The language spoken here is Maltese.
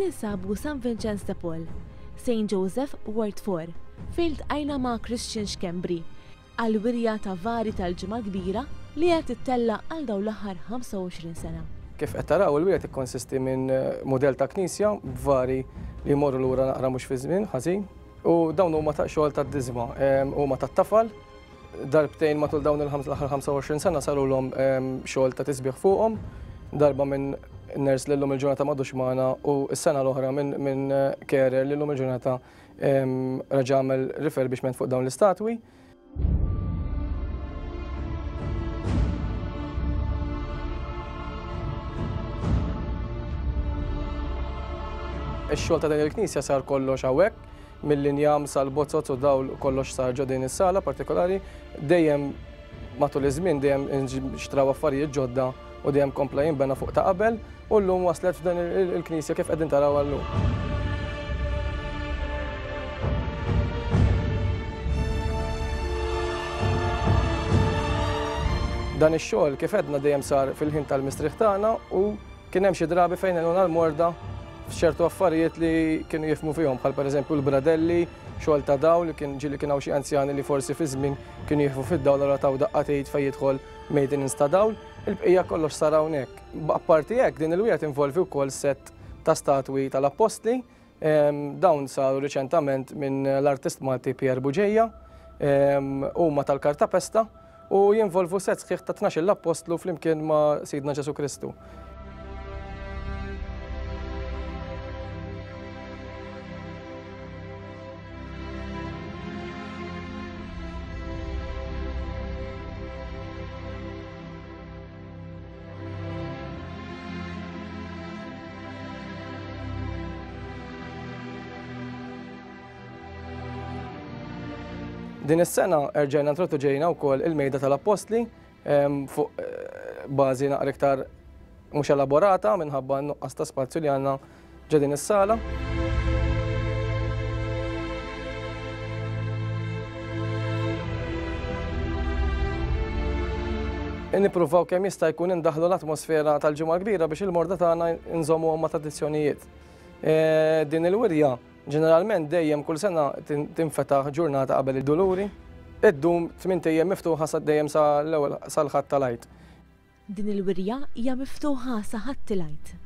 Ninsabu San Vincenz de Paul, St. Joseph, Ward 4, fejn ltqajna ma' Christian Schembri għall-wirja ta' vari tal-Ġimgħa l-Kbira li qed tittella' għal dawn l-aħħar 25 sena. Kif qed taraw, il-wirja tikkonsisti minn mudell ta' knisja b'vari li jmorru lura naqra mhux fiż-żmien ħażin u dawn huma ta' xogħol tad-diżma, huma tat-tafal. Darbtejn matul dawn l-aħħar 25 sena sarulhom xogħol ta' tisbiħ fuqhom, darba minn nurse li llum il-ġurnata m'għadux magħna u s-sena l-oħra minn carer li llum il-ġurnata reġa' għamel refurbishment fuq dawn l-istatwi. Ix-xogħol ta' din il-knisja sar kollox hawnhekk, mill-injam sal-bozoz u dawl kollox sar ġo din is-sala partikolari. Dejjem matul iż-żmien dejjem nxtraw affarijiet ġodda u dejjem kompla jinbena fuq ta' qabel u llum waslet f'dan il-knisja kif qegħdin tarawha llum. Dan ix-xogħol kif għedna dejjem sar fil-ħin tal-mistrieħ tagħna u kien hemm xi drabi fejn għenuna l-morda f'ċertu affarijiet li kienu jifhmu fihom bħal pereżempju l-bradelli, xogħol ta' dawl li kien ġieli kien hawn xi anzjani li forsi fi żmien kienu jieħfu fid-dawl allura taw daqqa t'id fejn jidħol maintenance ta' dawl. Il-bqija kollox sar hawnhekk. Apparti hekk, din il-wirja tinvolvi wkoll sett ta' statwi tal-appostli. Dawn saru riċentament minn l-artist Malti Pierre Bugeja. Huma tal-kartapesta u jinvolvu sett sħiħ ta' tnax-il appostlu flimkien ma' Sidna Ġesù Kristu. Din is-sena erġajna introduġejna wkoll il-mejda tal-appostli fuq eh, bażi naqra iktar mhux elaborata minħabba n-nuqqas ta' spazju li għandna ġo din is-sala. Nippruvaw kemm jista' jkun indaħlu l-atmosfera tal-Ġimgħa l-Kbira biex il-morda tagħna nżommuhom ma' tradizzjonijiet. E, din il-wirja ġeneralment dejjem kull sena tinfetaħ ġurnata qabel id-Duluri. Iddum tmint ijiem miftuħa sa dejjem sa l-ewwel sal-Ħadd tal-Għid. Din il-wirja hija miftuħa sa Ħadd il-Għid.